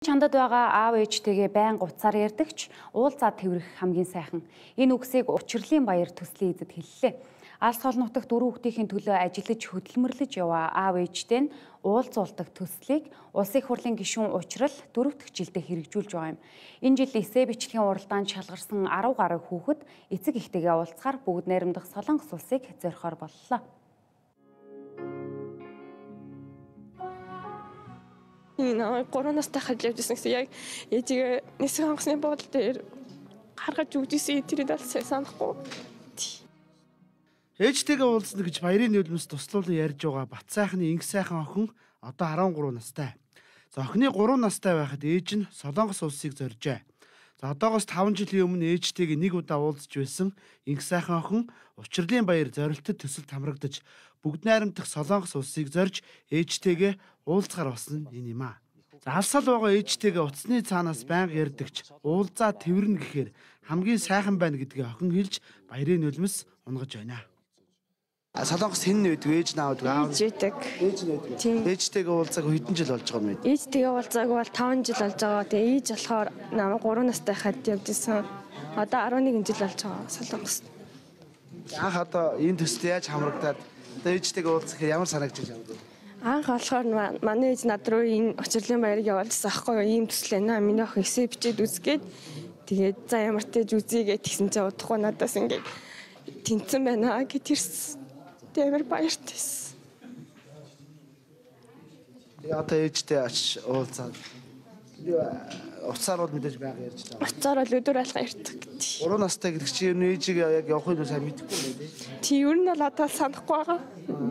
Чандад байгаа аав ээжтэйгээ байнга уцаар ярьдагч уулзаа тэврэх хамгийн сайхан. Энэ үгсийг Учирлын баяр төслийн эзэд хэллээ. Алс хол нутагт 4 хүүхдийн төлөө ажиллаж хөдөлмөрлөж яваа аав ээжтэй нь уулзуулдаг төслийг Улсын их хурлын гишүүн Учрал 4 дахь жилдээ хэрэгжүүлж байгаа юм. Энэ жил эсээ бичлэгийн уралдаанд шалгарсан 10 гаруй хүүхэд эцэг эхтэйгээ уулзахаар бүгд найрамдах Солонгос улсыг зорихоор боллоо. Гурван настай хажиж явжсэн гэсэн яг ээжигээ нисэх хангасны бодол дээр гаргаж өгдөөсөн тэрийг аль санахгүй. Ээжтэйгээ уулзна гэж баярын нулимс туслуулан ярьж байгаа Бат сайхны инг сайхан охин одоо 13 настай. За охины 3 настай байхад ээж нь Солонгос улсыг зоржээ. За одоогоос 5 жилийн өмнө ээжтэйгээ нэг удаа уулзж байсан инг сайхан охин Учирлын баяр зорилтод төсөлд хамрагдаж бүгд найрамдах Солонгос улсыг зорж ээжтэйгээ уулзахаар болсон энэ юм аа. За алсаал байгаа ээжтэйгээ утасны цаанаас байнга ярьдагч уулзаа тэвэрнэ гэхээр хамгийн сайхан байна гэдгийг охин хэлж баярын нулимс унгаж байна. Солонгос хэн нээдэг ээж наавдаг аав Ээжтэй. ээж нээдэг. Ээжтэйгээ уулзаагүй хэдэн жил болж байгаа юм бэ? Ээжтэйгээ уулзаагүй бол 5 жил болж байгаа. Тэгээ ээж болохоор намайг 3 настай хад явжсэн. Одоо 11 жил болж байгаа Солонгост. Анх одоо энэ төсөлд яаж хамрагдаад одоо ээжтэйгээ уулзах ямар санагдаж байна вэ? Анх болохоор манай ээж над руу энэ Учирлын баярыг явуулсан аахгүй юу? Ийм төсөл байна. Миний охин эсээ бичээд үзгээд тэгээд за ямар ч тааж үзье гэсэн чинь удахгүй надаас ингээд тэнцэн байна гэж Тэмэр баяртайс. Тэгээ одоо ээжтэй очиж уулзаад уцаар бол мэдээж байга ярьж байгаа. Уцаар бол өдөр алга ярьдаг гэдэг. 3 настай гэдэг чи ер нь ээжийг яг явахыг сайн мэдэхгүй байна тий. Тий ер нь бол одоо санахгүй байгаа.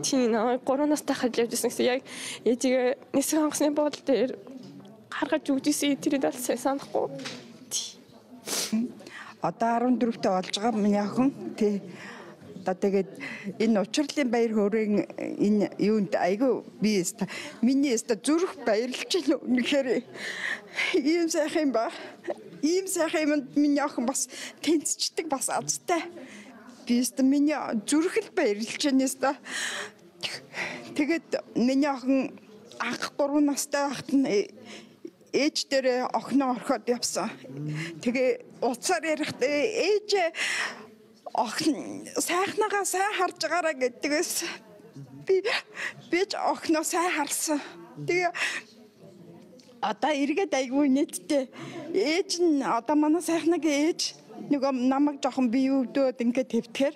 Тий 3 настай хажиж явжсэн гэсэн яг ээжигээ нисэх хангасны бодол дээр гаргаж өгдөөсөн тэрийг аль санахгүй. Одоо 14-т болж байгаа миний охин тий. Тэгээд энэ Учирлын баяр хөөрийн энэ юунд айгүй би миний зүрх баярлж байна. Үнэхээр ийм сайхан ба ийм сайхан юмд миний охин бас тэнцчдэг бас азтай. Би миний зүрх л баярлж байна. Тэгээд миний охин анх 3 настай байхад нь ээж дээр охиноо орхиод явсан. Тэгээ уцаар ярихдаа ээж охин сайхнагаа сайн харж байгаараа гэдгээс би ч охиноо сайн харсан. Тэгээ одоо эргээд айгүй нийтдээ ээж нь одоо манай сайхнагийн ээж нөгөө намайг жоохон бие өвдөөд ингээд твтгэр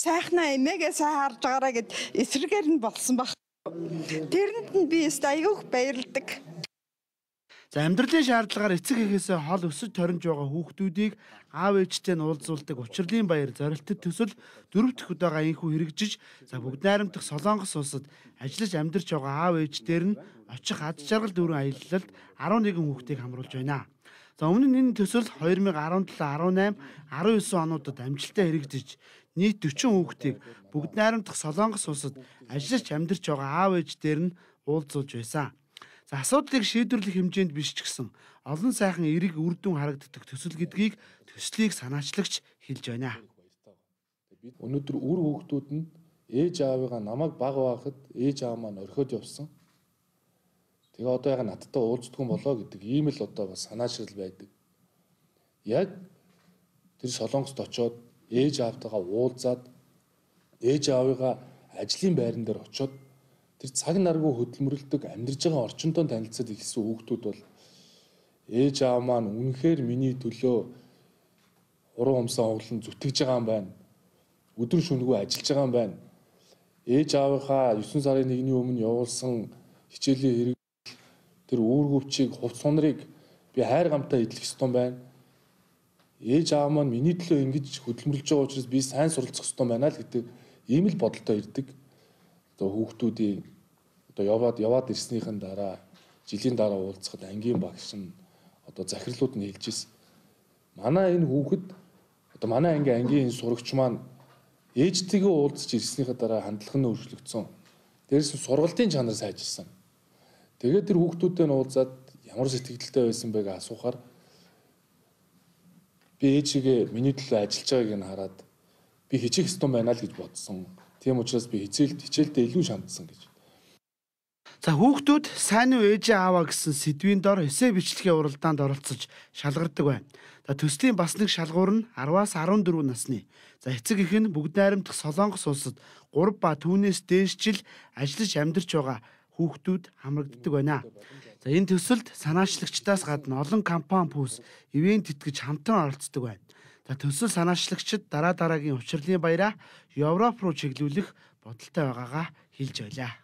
сайхнаа эмээгээ сайн харж байгаараа гэд эсрэгээр нь болсон баг. Тэрэнд нь би айгүйх баярлдаг. За амьдралын шаардлагаар эцэг эхээсээ хол өсөж торинж байгаа хүүхдүүдийг аав ээжтэй нь уулзуулдаг Учирлын баяр зорилтод төсөл 4 дахь удаага инхүү хэрэгжиж за бүгд найрамдах Солонгос улсад ажиллаж амьдарч байгаа аав ээжтэр нь очих ад жаргал дүүрэн аялалд 11 хүүхдийг хамруулж байна. За өмнө нь энэ төсөл 2017, 18, 19 онуудад амжилттай хэрэгжиж нийт 40 хүүхдийг бүгд найрамдах Солонгос улсад ажиллаж амьдарч байгаа аав ээжтэр нь уулзуулж байсан. За асуудлыг шийдвэрлэх хэмжээнд биш ч гэсэн олон сайхан эрэг үр дүн харагддаг төсөл гэдгийг төслийг санаачлагч хэлж байна. Бид өнөөдөр үр хүүхдүүд нь ээж аавыгаа намайг бага байхад ээж аав маань орхиод явсан. Тэгээ одоо яга надтай уулздгүй болоо гэдэг ийм л одоо бас санаачрал байдаг. Яг тэр Солонгост очоод ээж аавтайгаа уулзаад ээж аавыгаа ажлын байран дээр очоод тэр цаг наргүй хөдөлмөрлөдөг амьдарч байгаа орчинтой танилцаад ихсэн хүүхдүүд бол ээж аав маань үнэхээр миний төлөө уран умсаа хоглон зүтгэж байгаа юм байна. Өдөр шөнөгүй ажиллаж байгаа юм байна. Ээж аавынхаа 9 сарын 1-ний өмнө явуулсан хичээлийн хэрэг тэр үүргөвчийг хувц сунрыг би хайр гамтаа эдлэх ёстой юм байна. Ээж аав маань миний төлөө ингэж хөдөлмөрлөж байгаа учраас би сайн суралцах ёстой байна л гэдэг ийм л бодолтой ирдэг. Одоо хүүхдүүдийн одоо яваад ирснийхэн дараа жилийн дараа уулзахад ангийн багш нь одоо захирлууд нь хэлж ирсэн. Манай энэ хүүхэд одоо манай ангийн сурагч маань ээжтэйгээ уулзаж ирснийхэн дараа хандлага нь өөрчлөгдсөн. Дээрээс нь сургалтын чанар сайжирсан. Тэгээд тэр хүүхдүүдтэй нь уулзаад ямар сэтгэлдтэй байсан байг асуухаар би ээжигээ миний төлөө ажиллаж байгааг нь хараад би хичээх ёстой байна л гэж бодсон. Тийм учраас би хичээлдээ илүү шаандсан гэж. За хүүхдүүд сайн уу ээж ааваа гэсэн сэдвийн дор эссе бичлэгийн уралдаанд оролцож шалгардаг байна. За төслийн бас нэг шалгуур нь 10-аас 14 насны. За эцэг эх нь бүгд найрамдах Солонгос улсад 3 ба түүнээс дээш жил ажиллаж амьдарч байгаа хүүхдүүд хамрагддаг байна. За энэ төсөлд санаачлагчдаас гадна олон компани бүс ивент тэтгэж хамтран оролцдог байна. За төсөл санаачлагчид дараа дараагийн учрлын баяраа Европ руу чиглүүлэх бодолтой байгаагаа хэлж байлаа.